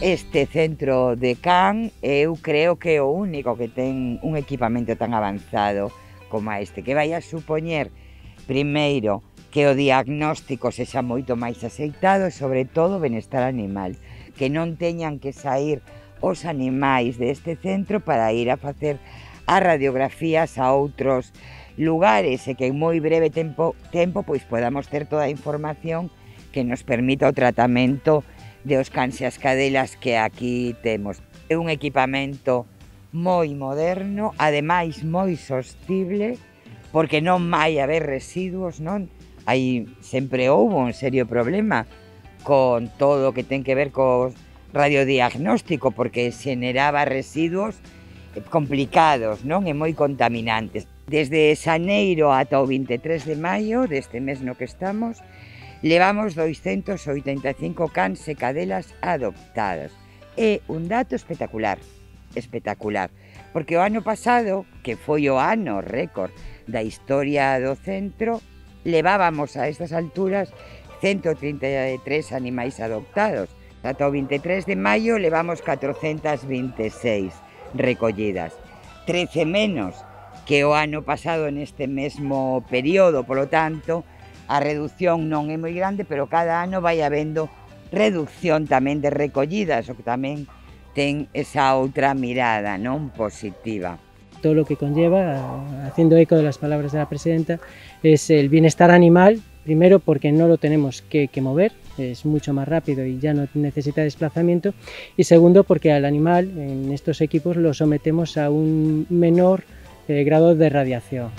Este centro de Can eu creo que é o único que ten un equipamento tan avanzado como este, que vai a supoñer, primeiro, que o diagnóstico sexa moito máis aceitado e, sobre todo, o benestar animal, que non teñan que sair os animais deste centro para ir a facer as radiografías a outros lugares e que en moi breve tempo pois podamos ter toda a información que nos permita o tratamento de os cans e as cadelas que aquí temos. É un equipamento moi moderno, ademais moi sostible, porque non vai haber residuos, non? Sempre houbo un serio problema con todo o que ten que ver co radiodiagnóstico, porque xeneraba residuos complicados, non? E moi contaminantes. Desde xaneiro ata o 23 de maio deste mes no que estamos, levamos 285 cans e cadelas adoptadas. É un dato espectacular, porque o ano pasado, que foi o ano récord da historia do centro, levábamos a estas alturas 133 animais adoptados. Ata o 23 de maio levamos 426 recollidas, 13 menos que o ano pasado neste mesmo período, polo tanto, a reducción non é moi grande, pero cada ano vai habendo reducción tamén de recollidas, o que tamén ten esa outra mirada, non positiva. Todo lo que conlleva, haciendo eco de las palabras de la presidenta, es el bienestar animal, primero porque no lo tenemos que mover, es mucho más rápido y ya no necesita desplazamiento, y segundo porque al animal en estos equipos lo sometemos a un menor grado de radiación.